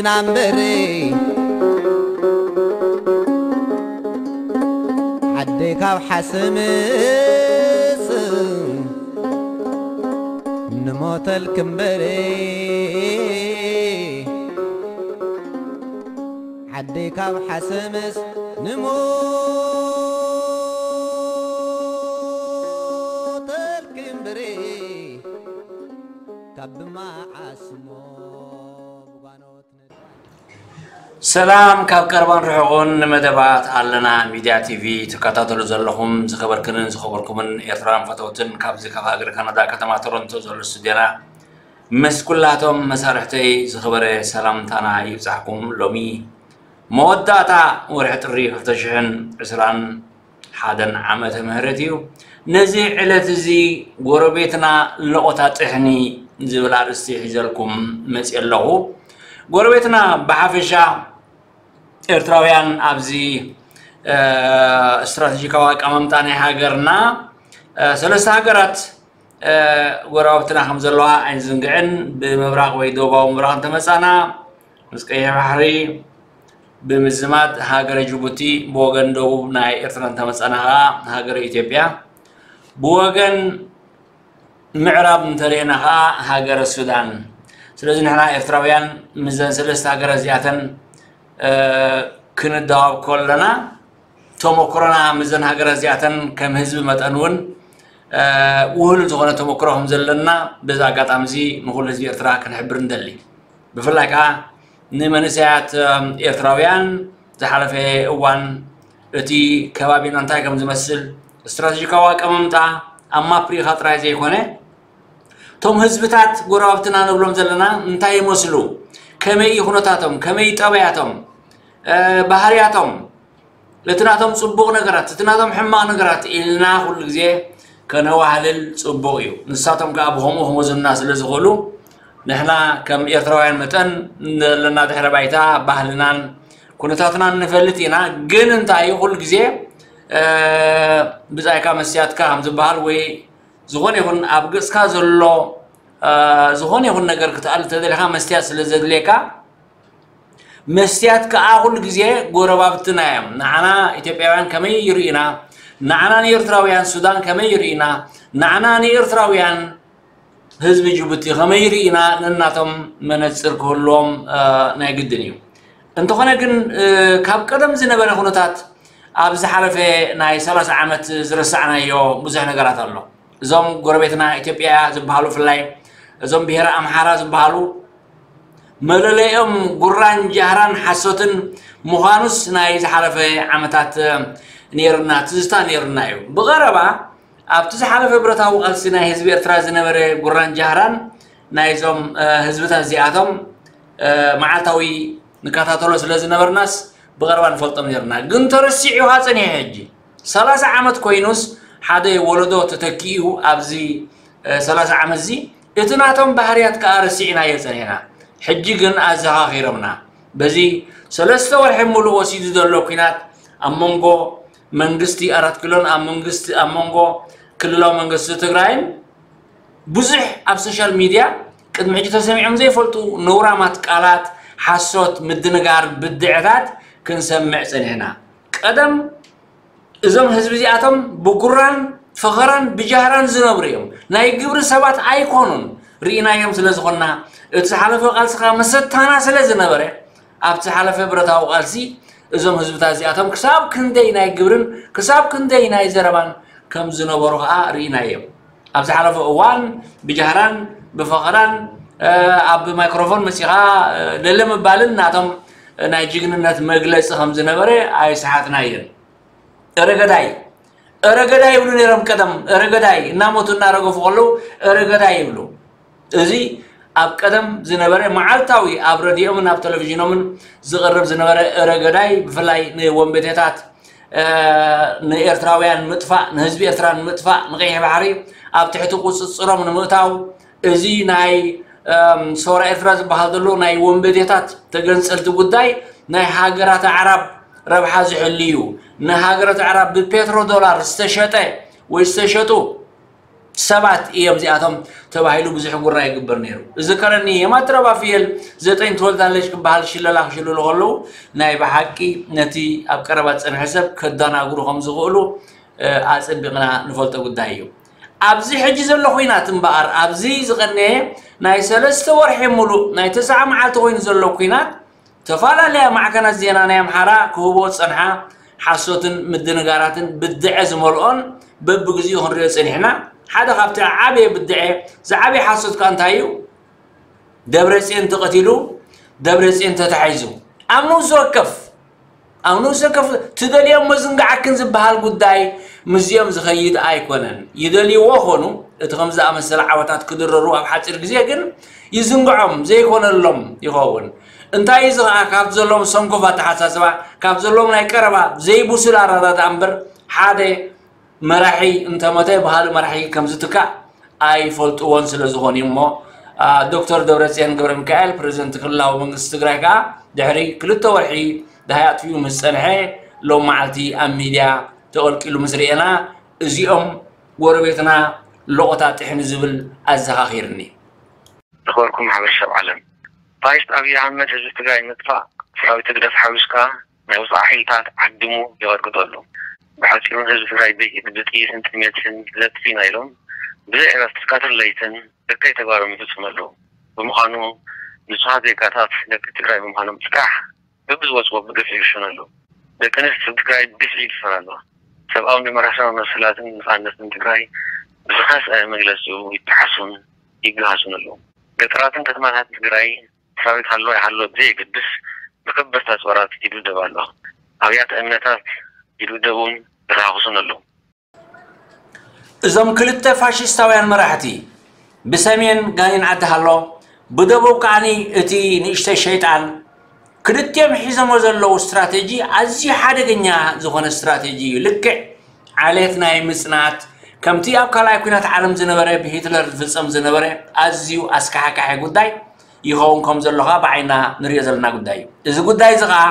ናምበሪ ዓደይ ካብ ሓሰምስ ንሞተልክ እምበሪ ዓደይ ካብ ሓሰምስ ንሞተልክ እምበሪ ካብ ብመዓስሞ ብጓኖት ሰላም ካብ ቀርባን ርሑቕን ንመደባት ኣለና ሚድያ ቲቪ ትከታተሉ ዘለኹም ዝኸበርክንን ዝኸበርኩምን ኤርትራውያን ፈተውትን ካብዚ ካብ ሃገር ካናዳ ከተማ ቶሮንቶ ዘሎ ስቱድዮና ምስ ኩላቶም መሳርሕተይ ዝኸበረ ሰላምታና ይብጻሕኩም። ሎሚ መወዳእታ ወርሒ ጥሪ ክልተ ሽሕን ዕስራን ሓደን ዓመተ ምህረት እዩ። ነዚ ዕለት እዚ ጎረቤትና ለቆታ ጥሕኒ ዝብል ኣርእስቲ ሒዘልኩም መፅእ ኣለኹ። ጎረቤትና ብሓፈሻ ኤርትራውያን ኣብዚ ስትራቴጂካዊ ኣቀማምጣ ናይ ሃገርና ሰለስተ ሃገራት ጎረባብትና ከም ዘለዋ ኣይንዝንግዕን። ብምብራቕ ወይ ደቡባዊ ምብራቕ እንተመፃና ምስ ቀይሕ ባሕሪ ብምዝማድ ሃገረ ጅቡቲ ብወገን ደቡብ ናይ ኤርትራ እንተመፃና ከዓ ሃገረ ኢትዮጵያ ብወገን ምዕራብ እንተሪእና ከዓ ሃገረ ሱዳን። ስለዚ ንሕና ኤርትራውያን ምስዘን ሰለስተ ሃገራት እዚኣተን ክንደዋብ ከለና ተሞክሮና ምስዘን ሃገራት እዚኣተን ከም ህዝቢ መጠን እውን ውህሉል ዝኾነ ተሞክሮ ከም ዘለና በዚ ኣጋጣሚ እዚ ንኩሉ ህዝቢ ኤርትራ ክንሕብር ንደሊ። ብፍላይ ከዓ ንመንእሰያት ኤርትራውያን ዝሓለፈ እዋን እቲ ከባቢና እንታይ ከም ዝመስል ስትራቴጂካዊ ኣቀማምጣ ኣብ ማፕ ሪኢኻ ጥራይ ዘይኮነ እቶም ህዝብታት ጎረባብትና ንብሎም ዘለና እንታይ ይመስሉ፣ ከመይ እዩ ኩነታቶም፣ ከመይ ጠባያቶም፣ ባህርያቶም፣ እቲ ናቶም ፅቡቕ ነገራት እቲ ናቶም ሕማቕ ነገራት ኢልና ኩሉ ግዜ ከነዋህልል ፅቡቕ እዩ። ንሳቶም ከዓ ብከምኡ ክመዙና ስለ ዝኽእሉ ንሕና ከም ኤርትራውያን መጠን ዘለና ድሕረ ባይታ ባህልናን ኩነታትናን ንፈልጥ ኢና። ግን እንታይ እዩ ኩሉ ግዜ ብፃይካ መስትያትካ ከም ዝበሃል ወይ ዝኾነ ይኹን ኣብ ገፅካ ዘሎ ዝኾነ ይኹን ነገር ክትኣል ተደሊኻ መስትያት ስለ ዘድልየካ መስትያት ከዓ ኩሉ ግዜ ጎረባብትና እዮም። ንዓና ኢትዮጵያውያን ከመይ ይርእዩና፣ ንዓና ንኤርትራውያን ሱዳን ከመይ ይርእዩና፣ ንዓና ንኤርትራውያን ህዝቢ ጅቡቲ ከመይ ይርእዩና ነናቶም መነፅር ክህልዎም ናይ ግድን እዩ። እንተኾነ ግን ካብ ቀደም ዝነበረ ኩነታት ኣብ ዝሓለፈ ናይ ሰላሳ ዓመት ዝረሳዕናዮ ብዙሕ ነገራት ኣሎ። እዞም ጎረቤትና ኢትዮጵያ ዝበሃሉ ብፍላይ እዞም ብሄረ ኣምሓራ ዝበሃሉ መለለይኦም ጉራን ጃህራን ሓሶትን ምዃኑስ ናይ ዝሓለፈ ዓመታት ነይርና ትዝታ ነይርና እዩ። ብቐረባ ኣብቲ ዝሓለፈ ብረታዊ ቃልሲ ናይ ህዝቢ ኤርትራ ዝነበረ ጉራን ጃህራን ናይዞም ህዝብታት እዚኣቶም መዓልታዊ ንከታተሎ ስለ ዝነበርናስ ብቐረባ ንፈልጦም ነይርና። ግን ተረሲዑ ጸኒሑ ሕጂ ሰላሳ ዓመት ኮይኑስ ሓደ ወለዶ ተተኪኡ ኣብዚ ሰላሳ ዓመት እዚ እቲ ናቶም ባህርያት ከኣ ረሲዕናዮ ጸኒሕና። ሕጂ ግን ኣዘኻኺሮምና። በዚ ሰለስተ ወርሒ ሙሉእ ወሲዱ ዘሎ ኲናት ኣብ መንጎ መንግስቲ ኣራት ኪሎን ኣብ መንግስቲ ኣብ መንጎ ክልላዊ መንግስቲ ትግራይን ብዙሕ ኣብ ሶሻል ሚድያ ቅድሚ ሕጂ ተሰሚዖም ዘይፈልጡ ነውራማት ቃላት፣ ሓሶት፣ ምድንጋር፣ ብድዐታት ክንሰምዕ ጸኒሕና። ቀደም እዞም ህዝቢ እዚኣቶም ብጉራን ፈኸራን ብጃህራን ዝነብሩ እዮም። ናይ ግብሪ ሰባት ኣይኮኑን። ርኢናዮም ስለ ዝኾንና፣ እቲ ዝሓለፈ ቃልስኻ መሰታና ስለ ዝነበረ፣ ኣብቲ ዝሓለፈ ብረታዊ ቃልሲ እዞም ህዝብታት እዚኣቶም ክሳብ ክንደይ ናይ ግብርን ክሳብ ክንደይ ናይ ዘረባን ከም ዝነበሩ ኸኣ ርኢናዮም። ኣብ ዝሓለፈ እዋን ብጃህራን ብፈኸራን ኣብ ማይክሮፎን መጺኻ ለለ ምባልን ናቶም ናይ ጅግንነት መግለጺ ከም ዝነበረ ኣይሰሓትናዮን። እረ ገዳይ እረ ገዳይ ይብሉ ነይሮም ቀደም። እረ ገዳይ እናሞቱ እናረገፉ ከለዉ እረ ገዳይ ይብሉ። እዚ ኣብ ቀደም ዝነበረ መዓልታዊ ኣብ ረድዮምን ኣብ ቴሌቪዥኖምን ዝቐርብ ዝነበረ እረ ገዳይ ብፍላይ ንወንበዴታት ንኤርትራውያን ምጥፋእ ንህዝቢ ኤርትራ ንምጥፋእ ንቀይሕ ባሕሪ ኣብ ትሕቲ ቁፅፅሮም ንምእታው እዚ ናይ ሰውራ ኤርትራ ዝበሃል ዘሎ ናይ ወንበዴታት ተገንፀልቲ ጉዳይ ናይ ሃገራት ኣዕራብ ረብሓ ዝሕል እዩ። ንሃገራት ኣዕራብ ብፔትሮ ዶላር ዝተሸጠ ወይ ዝተሸጡ ሰባት እዮም እዚኣቶም ተባሂሉ ብዙሕ ጉራ ይግበር ነይሩ። እዝከረኒ የማትረባ ፍየል ዘጠኝ ትወልዳለች ክበሃል ሽለላ ክሽልሉ ከለዉ ናይ ብሓቂ ነቲ ኣብ ቀረባ ዝጸንሐ ሰብ ከዳናግሩ ከም ዝኽእሉ ኣጸቢቕና ንፈልጦ ጉዳይ እዩ። ኣብዚ ሕጂ ዘሎ ኹናት እምበኣር ኣብዚ ዝቐነየ ናይ ሰለስተ ወርሒ ሙሉእ ናይ ተስዓ መዓልቲ ኮይኑ ዘሎ ኲናት ተፈላለያ ማዕከናት ዜና ናይ ኣምሓራ ክህቦ ዝጸንሓ ሓሶትን ምድንጋራትን ብድዐ ዝመልኦን በብግዚኡ ክንሪኦ ጸኒሕና። ሓደ ካብቲ ዓብየ ብድዐ ዝዓብየ ሓሶት ከኣ እንታይ እዩ? ደብረጽዮን ተቐቲሉ፣ ደብረጽዮን ተታሒዙ። ኣብ ንኡስ ወከፍ ኣብ ንኡስ ወከፍ ትደልዮም መዝንግዓክን ዝበሃል ጉዳይ ምስዚኦም ዝኸይድ ኣይኮነን። ይደልይዎ ኾኑ እቲ ከም ዝኣመሰለ ዓወታት ክድረሩ ኣብ ሓፂር ግዜ ግን ይዝንግዖም ዘይኮነሎም ይኸውን። እንታይ እዚ ኸዓ ካብ ዘለዎም ሰንኮፍ ኣተሓሳስባ ካብ ዘለዎም ናይ ቀረባ ዘይብሱል ኣረዳድኣ እምበር ሓደ መራሒ እንተሞተ ብኻልእ መራሒ ከም ዝትካእ ኣይፈልጥዎን ስለ ዝኾኑ እዩ እሞ ዶክተር ደብረፅዮን ገብረ ሚካኤል ፕሬዚደንት ክልላዊ መንግስቲ ትግራይ ከዓ ድሕሪ ክልተ ወርሒ ደሃይ ኣጥፊኡ ምስ ፀንሐ ሎም መዓልቲ ኣብ ሚድያ ተቐልቂሉ ምስ ርኤና እዚኦም ጎረቤትና ሎቆታ ጥሕኒ ዝብል ኣዘኻኺርኒ። ዝኸበርኩም ማሕበረሰብ ዓለም፣ ፋሽስት ኣብይ ኣሕመድ ህዝቢ ትግራይ ንምጥፋእ ሰራዊት ህግደፍ ሓዊስካ ናይ ወፃኢ ሓይልታት ዓዲሙ የቐጥቅጠሉ። ብሓፂሩ ህዝቢ ትግራይ ብጥይትን ጥሜትን ለጥፊና ኢሎም ብዘይ ዕረፍቲ ቀትርን ለይትን ደቀይ ተግባሮም ይፍፅሙ ኣለዉ። ብምዃኑ ንፁሃት ዜጋታት ደቂ ትግራይ ብምዃኖም ጥራሕ በብዝወፅዎ ብግፍዒ ይርሸኑ ኣለዉ። ደቂ ኣንስትዮ ትግራይ ብግፍዒ ይድፈራ ኣለዋ። ሰብኣውን ዲሞክራሲያዊ መሰላትን ነፃነትን ትግራይ ብዝኸስዐ መግለፂኡ ይጠሓሱን ይገሃሱን ኣለዉ። ገጠራትን ከተማታትን ትግራይ ሰራዊት ሃለወ ኣይሃለወ ብዘየገድስ ብከበድቲ ኣፅዋራት ይድብደብ ኣሎ። ኣብያተ እምነታት ይድብደቡን ይረኻኽሱን ኣለዉ። እዞም ክልተ ፋሽስታውያን መራሕቲ ብሰሜን ጋኔን ዓዲ ሃሎ ብደቡብ ከዓኒ እቲ ንእሽተይ ሸይጣን ክልቲኦም ሒዞሞ ዘለዉ ስትራቴጂ ኣዝዩ ሓደገኛ ዝኾነ ስትራቴጂ እዩ። ልክዕ ዓሌት ናይ ምጽናት ከምቲ ኣብ ካልኣይ ኩናት ዓለም ዝነበረ ብሂትለር ዝፍጸም ዝነበረ ኣዝዩ ኣስካሕካሒ ጉዳይ ይኸውን ከም ዘሎ ኸዓ ብዓይና ንሪኦ ዘለና ጉዳይ እዩ። እዚ ጉዳይ እዚ ኸዓ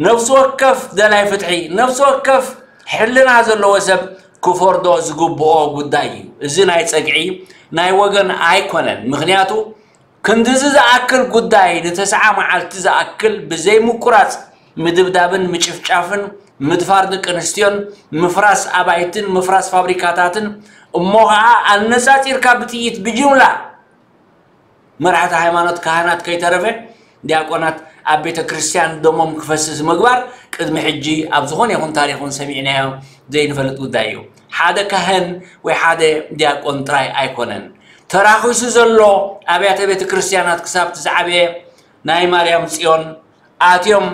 ነፍሲ ወከፍ ደላይ ፍትሒ፣ ነፍሲ ወከፍ ሕልና ዘለዎ ሰብ ክፈርዶ ዝግብኦ ጉዳይ እዩ። እዚ ናይ ጸግዒ ናይ ወገን ኣይኮነን። ምኽንያቱ ክንድዚ ዝኣክል ጉዳይ ንተስዓ መዓልቲ ዝኣክል ብዘይ ምቁራጽ ምድብዳብን ምጭፍጫፍን ምድፋር ደቂ ኣንስትዮን ምፍራስ ኣባይትን ምፍራስ ፋብሪካታትን እሞ ኸዓ ኣነጻጺርካ ብጥይት ብጅምላ መራሕቲ ሃይማኖት ካህናት ከይተረፈ ዲያቆናት ኣብ ቤተ ክርስቲያን ደሞም ክፈስስ ምግባር ቅድሚ ሕጂ ኣብ ዝኾነ ይኹን ታሪኽ እውን ሰሚዕናዮ ዘይንፈልጥ ጉዳይ እዩ። ሓደ ካህን ወይ ሓደ ዲያቆን ጥራይ ኣይኮነን ተራኺሱ ዘሎ ኣብያተ ቤተ ክርስቲያናት ክሳብ እቲ ዝዓበየ ናይ ማርያም ጽዮን ኣትዮም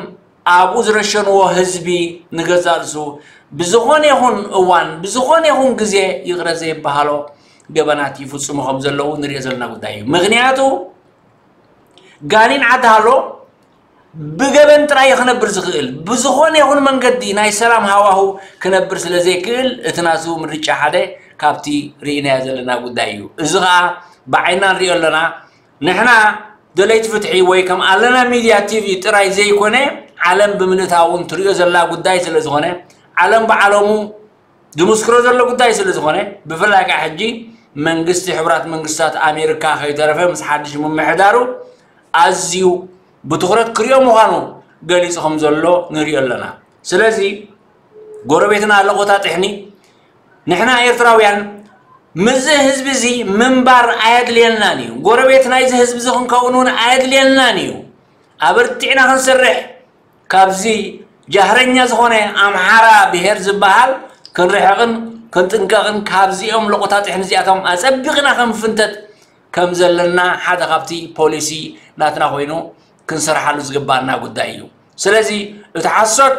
ኣብኡ ዝረሸንዎ ህዝቢ ንገዛእ ርእሱ ብዝኾነ ይኹን እዋን ብዝኾነ ይኹን ግዜ ይቕረ ዘይበሃሎ ገበናት ይፍፅሙ ከም ዘለዉ ንሪኦ ዘለና ጉዳይ እዩ። ምኽንያቱ ጋኔን ዓዲ ሃሎ ብገበን ጥራይ እዩ ክነብር ዝኽእል። ብዝኾነ ይኹን መንገዲ ናይ ሰላም ሃዋሁ ክነብር ስለ ዘይክእል እቲ ናቱ ምርጫ ሓደ ካብቲ ርኢናዮ ዘለና ጉዳይ እዩ። እዚ ኸዓ ብዓይና ንሪኦ ኣለና። ንሕና ደለይቲ ፍትሒ ወይ ከም ኣለና ሚድያ ቲቪ ጥራይ ዘይኮነ ዓለም ብምልእታ እውን ትሪኦ ዘላ ጉዳይ ስለ ዝኾነ ዓለም ብዓለሙ ዝምስክሮ ዘሎ ጉዳይ ስለ ዝኾነ ብፍላይ ከዓ ሕጂ መንግስቲ ሕቡራት መንግስታት ኣሜሪካ ከይተረፈ ምስ ሓድሽ ምምሕዳሩ ኣዝዩ ብትኹረት ክሪኦ ምዃኑ ገሊፁ ከም ዘሎ ንሪኦ ኣለና። ስለዚ ጎረቤትና ኣለቆታ ጥሕኒ ንሕና ኤርትራውያን ምስዚ ህዝቢ እዚ ምንባር ኣየድልየናን እዩ። ጎረቤት ናይዚ ህዝቢ እዚ ክንከውን እውን ኣየድልየናን እዩ። ኣበርቲዕና ክንሰርሕ ካብዚ ጃህረኛ ዝኾነ ኣምሓራ ብሄር ዝበሃል ክንርሕቕን ክንጥንቀቕን ካብዚኦም ለቆታ ጥሕኒ እዚኣቶም ኣጸቢቕና ክንፍንተት ከም ዘለና ሓደ ካብቲ ፖሊሲ ናትና ኮይኑ ክንሰርሓሉ ዝግባኣና ጉዳይ እዩ። ስለዚ እቲ ሓሶት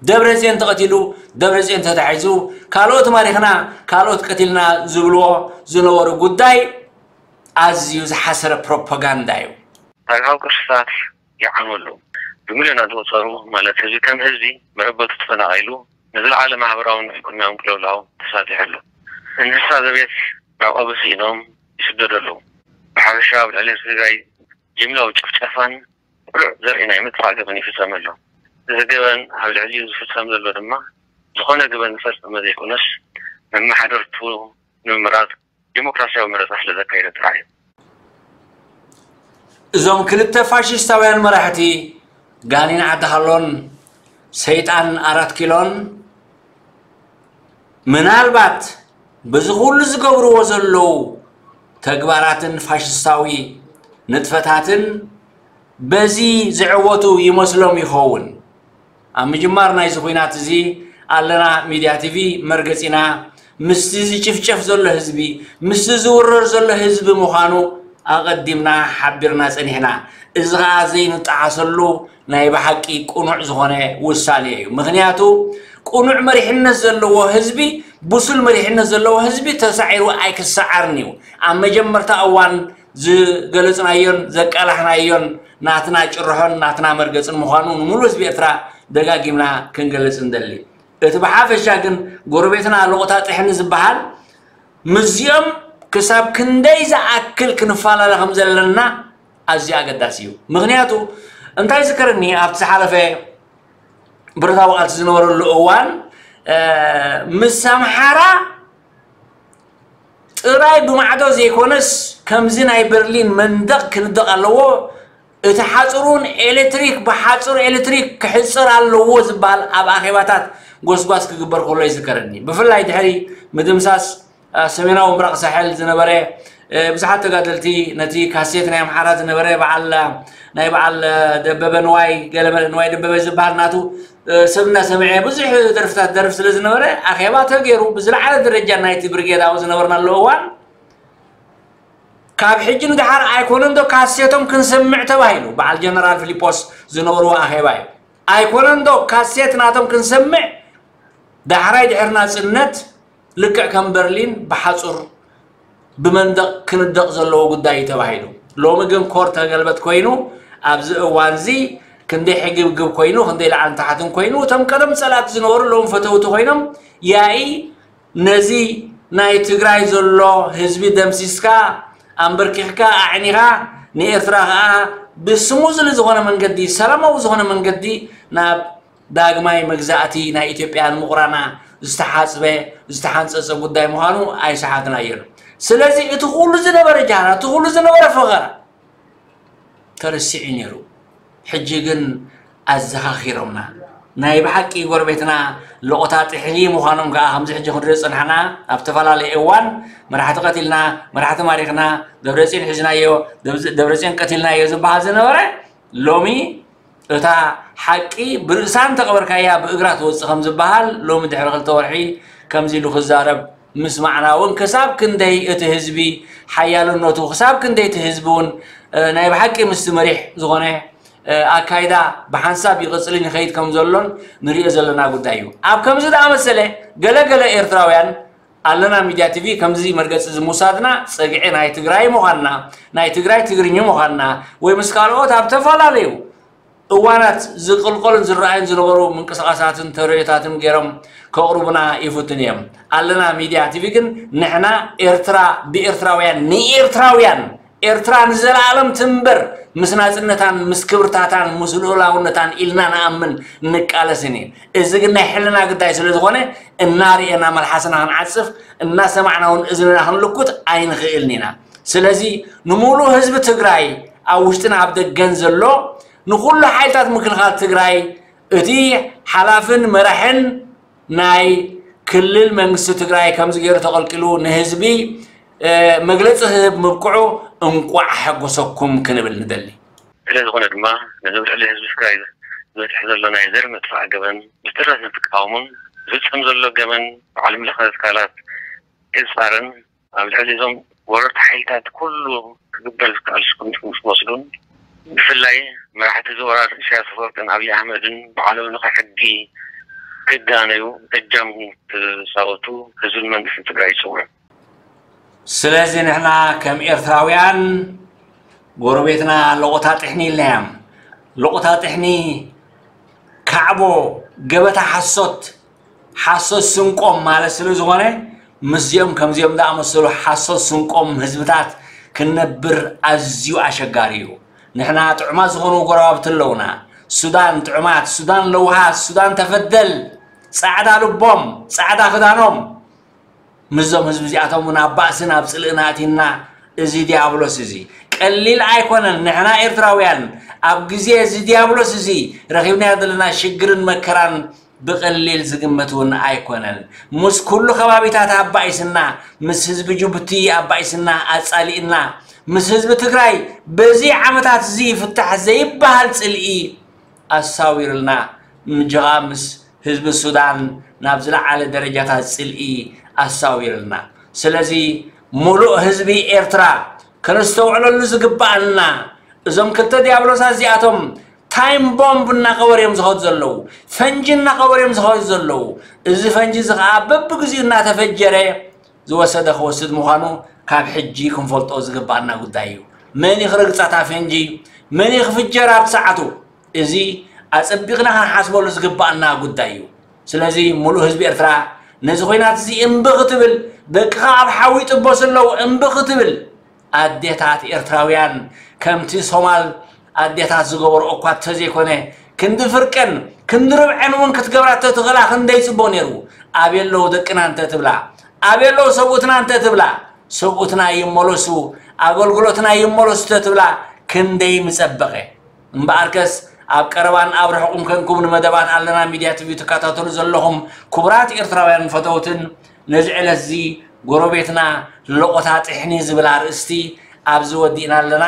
ደብረፅዮን ተቐቲሉ፣ ደብረፅዮን ተታሒዙ፣ ካልኦት ማሪኽና፣ ካልኦት ቀቲልና ዝብልዎ ዝነበሩ ጉዳይ ኣዝዩ ዝሓሰረ ፕሮፓጋንዳ እዩ። ታሪኻዊ ቅርስታት ይዓኑ ኣለዉ። ብሚልዮናት ዝቑጸሩ ማለት ህዝቢ ከም ህዝቢ መረበቱ ተፈናቒሉ ንዝለዓለ ማሕበራውን ኢኮኖሚያውን ቅልውላው ተሳጢሑ ኣሎ። እንስሳ ዘቤት መዕቆቢ ስኢኖም ይስደዱ ኣለዉ። ብሓፈሻ ኣብ ልዕሊ ህዝቢ ትግራይ ጅምላዊ ጭፍጨፋን ቅሉዕ ዘርኢ ናይ ምጥፋእ ገበን ይፍጸም ኣሎ። እዚ ገበን ኣብ ልዕሊኡ ዝፍጸም ዘሎ ድማ ዝኾነ ገበን ዝፈጸመ ዘይኮነስ መመሓደርቱ ንምምራጽ ዲሞክራሲያዊ መረጻ ስለ ዘካየደ ጥራሕ እዩ። እዞም ክልተ ፋሽስታውያን መራሕቲ ጋኔን ዓዲ ሃሎን ሰይጣን ኣራት ኪሎን ምናልባት በዚ ኩሉ ዝገብርዎ ዘለዉ ተግባራትን ፋሽስታዊ ንጥፈታትን በዚ ዝዕወቱ ይመስሎም ይኸውን። ኣብ ምጅማር ናይዚ ኹናት እዚ ኣለና ሚድያ ቲቪ መርገፂና ምስቲ ዝጭፍጨፍ ዘሎ ህዝቢ ምስቲ ዝውረር ዘሎ ህዝቢ ምዃኑ ኣቐዲምና ሓቢርና ጸኒሕና። እዚ ኸዓ ዘይንጠዓሰሉ ናይ ብሓቂ ቅኑዕ ዝኾነ ውሳኔ እዩ። ምኽንያቱ ቅኑዕ መሪሕነት ዘለዎ ህዝቢ፣ ብሱል መሪሕነት ዘለዎ ህዝቢ ተሳዒሩ ኣይክሰዓርን እዩ። ኣብ መጀመርታ እዋን ዝገለጽናዮን ዘቃላሕናዮን ናትና ጭርሖን ናትና መርገጽን ምዃኑ ንምሉእ ህዝቢ ኤርትራ ደጋጊምና ክንገልጽ ንደሊ። እቲ ብሓፈሻ ግን ጎረቤትና ሎቕታ ጥሕኒ ዝበሃል ምስዚኦም ክሳብ ክንደይ ዝኣክል ክንፈላለ ከም ዘለና ኣዝዩ ኣገዳሲ እዩ። ምኽንያቱ እንታይ ዝከረኒ ኣብቲ ዝሓለፈ ብረታዊ ቃልሲ ዝነበረሉ እዋን ምስ ኣምሓራ ጥራይ ብማዕዶ ዘይኮነስ ከምዚ ናይ በርሊን መንደቕ ክንደቕ ኣለዎ። እቲ ሓፅሩን ኤሌክትሪክ ብሓፁር ኤሌክትሪክ ክሕፀር ኣለዎ ዝበሃል ኣብ ኣኼባታት ጎስጓስ ክግበር ከሎ ይዝከረኒ። ብፍላይ ድሕሪ ምድምሳስ ሰሜናዊ ምብራቕ ሳሕል ዝነበረ ብዙሓት ተጋደልቲ ነቲ ካሴት ናይ ኣምሓራ ዝነበረ በዓል ናይ በዓል ደበበ ንዋይ ገለመለ ንዋይ ደበበ ዝበሃል ናቱ ሰብ እናሰምዐ ብዙሕ ደርፍታት ደርፍ ስለ ዝነበረ ኣኼባ ተገይሩ ብዝለዓለ ደረጃ ናይቲ ብርጌድ ኣብኡ ዝነበርናሉ እዋን ካብ ሕጂ ንደሓር ኣይኮነን ዶ ካሴቶም ክንሰምዕ ተባሂሉ በዓል ጀነራል ፊሊጶስ ዝነበርዎ ኣኼባ እዩ። ኣይኮነን ዶ ካሴት ናቶም ክንሰምዕ ዳሕራይ ድሕሪ ናፅነት ልክዕ ከም በርሊን ብሓፁር ብመንደቕ ክንደቕ ዘለዎ ጉዳይ እዩ ተባሂሉ። ሎሚ ግን ኮር ተገልበጥ ኮይኑ ኣብዚ እዋን እዚ ክንደይ ሕግብግብ ኮይኑ ክንደይ ላዕልን ታሕትን ኮይኑ እቶም ቀደም ፀላእቲ ዝነበሩ ሎም ፈተውቲ ኮይኖም ያኢ ነዚ ናይ ትግራይ ዘሎ ህዝቢ ደምሲስካ ኣንበርኪኽካ ኣዕኒኻ ንኤርትራ ከዓ ብስሙዝሊ ዝኾነ መንገዲ ሰላማዊ ዝኾነ መንገዲ ናብ ዳግማይ መግዛእቲ ናይ ኢትዮጵያ ንምቑራና ዝተሓፅበ ዝተሓንፀፀ ጉዳይ ምዃኑ ኣይሰሓትናዮን። ስለዚ እቲ ኩሉ ዝነበረ ጃህራ እቲ ኩሉ ዝነበረ ፈኸራ ተረሲዑ ነይሩ። ሕጂ ግን ኣዘኻኺሮምና ናይ ብሓቂ ጎረቤትና ሎቕታ ጥሕኒ ምዃኖም ከዓ ከምዚ ሕጂ ክንሪኦ ዝፀናሕና ኣብ ዝተፈላለየ እዋን መራሕቲ ቀቲልና መራሕቲ ማሪኽና ደብረፅዮን ሒዝናዮ ደብረፅዮን ቀቲልናዮ ዝበሃል ዝነበረ ሎሚ እታ ሓቂ ብርእሳ እንተቐበርካያ ብእግራ ትወፅእ ከም ዝበሃል ሎሚ ድሕሪ ክልተ ወርሒ ከምዚ ኢሉ ክዛረብ ምስማዕና እውን ክሳብ ክንደይ እቲ ህዝቢ ሓያልነቱ ክሳብ ክንደይ እቲ ህዝቢ እውን ናይ ብሓቂ ምስቲ መሪሕ ዝኾነ ኣካይዳ ብሓንሳብ ይቕፅልን ይኸይድ ከም ዘሎን ንሪኦ ዘለና ጉዳይ እዩ። ኣብ ከምዚ ዝኣመሰለ ገለገለ ኤርትራውያን ኣለና ሚድያ ቲቪ ከምዚ መርገፂ እዚ ምውሳድና ፀግዒ ናይ ትግራይ ምዃንና ናይ ትግራይ ትግርኛ ምዃንና ወይ ምስ ካልኦት ኣብ ተፈላለዩ እዋናት ዝቕልቀሉን ዝረኣዩን ዝነበሩ ምንቅስቓሳትን ተርእዮታትን ገይሮም ከቕርቡና ይፍትኑ እዮም። ኣለና ሚድያ ቲቪ ግን ንሕና ኤርትራ ብኤርትራውያን ንኤርትራውያን ኤርትራ ንዘለኣለም ትንበር ምስ ናፅነታን ምስ ክብርታታን ምስ ልኡላውነታን ኢልና ንኣምን ንቃለስን እዩ። እዚ ግን ናይ ሕልና ግዳይ ስለ ዝኾነ እናርኤና መልሓስና ክንዓፅፍ እናሰማዕና እውን እዝንና ክንልኩት ኣይንኽእልን ኢና። ስለዚ ንምሉእ ህዝቢ ትግራይ ኣብ ውሽጥን ኣብ ደገን ዘሎ ንኩሉ ሓይልታት ምክልኻል ትግራይ እቲ ሓላፍን መራሕን ናይ ክልል መንግስቲ ትግራይ ከምዚ ገይሩ ተቐልቂሉ ንህዝቢ መግለፂ ክህብ ምብቅዑ እንቋዕ ሓጎሰኩም ክንብል ንደሊ። ስለ ዝኾነ ድማ ነዚ ኣብ ልዕሊ ህዝቢ ትግራይ ዝበፅሕ ዘሎ ናይ ዘር ምጥፋእ ገበን ብትረት ንትቃወሙን ዝፍፀም ዘሎ ገበን ብዓለም ለኸ ትካላት ክፃረን ኣብ ልዕሊ እዞም ወረርቲ ሓይልታት ኩሉ ክግበር ዝከኣል ስጉምቲ ምስ ወስዱን ብፍላይ መራሕቲ እዚ ወራር ኢሳያስ ኣፈወርቅን ኣብይ ኣሕመድን ብዓለምለኸ ሕጊ ክዳነዩ እጃም ክፃወቱ ህዝብን መንግስትን ትግራይ ይፅውዕ። ስለዚ ንሕና ከም ኤርትራውያን ጎረቤትና ሎቆታ ጥሕኒ ኢልናዮም። ሎቆታ ጥሕኒ ካዕቦ ገበታ ሓሶት ሓሶት ስንቆም ማለት ስለ ዝኾነ ምስዚኦም ከምዚኦም ዝኣመሰሉ ሓሶት ስንቆም ህዝብታት ክንነብር ኣዝዩ ኣሸጋሪ እዩ። ንሕና ጥዑማት ዝኾኑ ጎረባብቲ ኣለውና። ሱዳን ጥዑማት፣ ሱዳን ለውሃት፣ ሱዳን ተፈደል፣ ፃዕዳ ልቦም፣ ፃዕዳ ክዳኖም ምስዞም ህዝቢ እዚኣቶም እውን ኣብ ባእስን ኣብ ጽልእን ኣእቲና፣ እዚ ዲያብሎስ እዚ ቀሊል ኣይኮነን። ንሕና ኤርትራውያን ኣብ ግዜ እዚ ዲያብሎስ እዚ ረኺብናዮ ዘለና ሽግርን መከራን ብቐሊል ዝግመት እውን ኣይኮነን። ምስ ኩሉ ከባቢታት ኣባኢስና፣ ምስ ህዝቢ ጅቡቲ ኣባኢስና፣ ኣጻሊእና፣ ምስ ህዝቢ ትግራይ በዚ ዓመታት እዚ ይፍታሕ ዘይበሃል ጽልኢ ኣሳዊርልና። ምጀኻ ምስ ህዝቢ ሱዳን ናብ ዝለዓለ ደረጃታት ጽልኢ ኣሳዊርልና። ስለዚ ምሉእ ህዝቢ ኤርትራ ከነስተውዕለሉ ዝግባኣና፣ እዞም ክልተ ዲያብሎሳት እዚኣቶም ታይም ቦምብ እናቐበሩ እዮም ዝኸዱ ዘለዉ፣ ፈንጂ እናቐበሩ እዮም ዝኸዱ ዘለዉ። እዚ ፈንጂ እዚ ኸዓ በብግዚኡ እናተፈጀረ ዝወሰደ ክወስድ ምዃኑ ካብ ሕጂ ክንፈልጦ ዝግባኣና ጉዳይ እዩ። መን እዩ ክረግጻ እታ ፈንጂ? መን እዩ ክፍጀር ኣብቲ ሰዓቱ? እዚ ኣጸቢቕና ክንሓስበሉ ዝግባኣና ጉዳይ እዩ። ስለዚ ምሉእ ህዝቢ ኤርትራ ነዚ ኹናት እዚ እምቢ ክትብል፣ ደቅኻ ኣብ ሓዊ ይጥበሱ ኣለዉ እምቢ ክትብል፣ ኣዴታት ኤርትራውያን ከምቲ ሶማል ኣዴታት ዝገበርኦ እኳ ተዘይኮነ፣ ክንዲ ፍርቀን ክንዲ ርብዐን እውን ክትገብራ ተትኽእላ ክንደይ ጽቡቕ ነይሩ። ኣበይ ኣለዉ ደቅና እንተ ትብላ፣ ኣበይ ኣለዉ ሰብኡትና እንተ ትብላ፣ ሰብኡትና ይመለሱ፣ ኣገልግሎትና ይመለሱ ተትብላ ክንደይ ምጸበቐ። እምበኣርከስ ኣብ ቀረባን ኣብ ርሑቕን ኮንኩም ንመደባት ኣለና ሚድያ ቲቪ ትከታተሉ ዘለኹም ክቡራት ኤርትራውያን ፈተውትን፣ ነዚ ዕለት እዚ ጎረቤትና ለቖታ ጥሕኒ ዝብል ኣርእስቲ ኣብዚ ወዲእና ኣለና።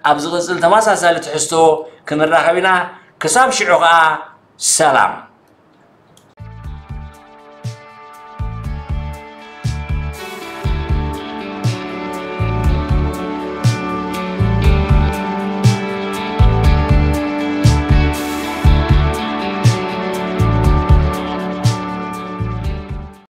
ኣብ ዝቕጽል ተመሳሳሊ ትሕዝቶ ክንራኸብ ኢና። ክሳብ ሽዑ ኸኣ ሰላም።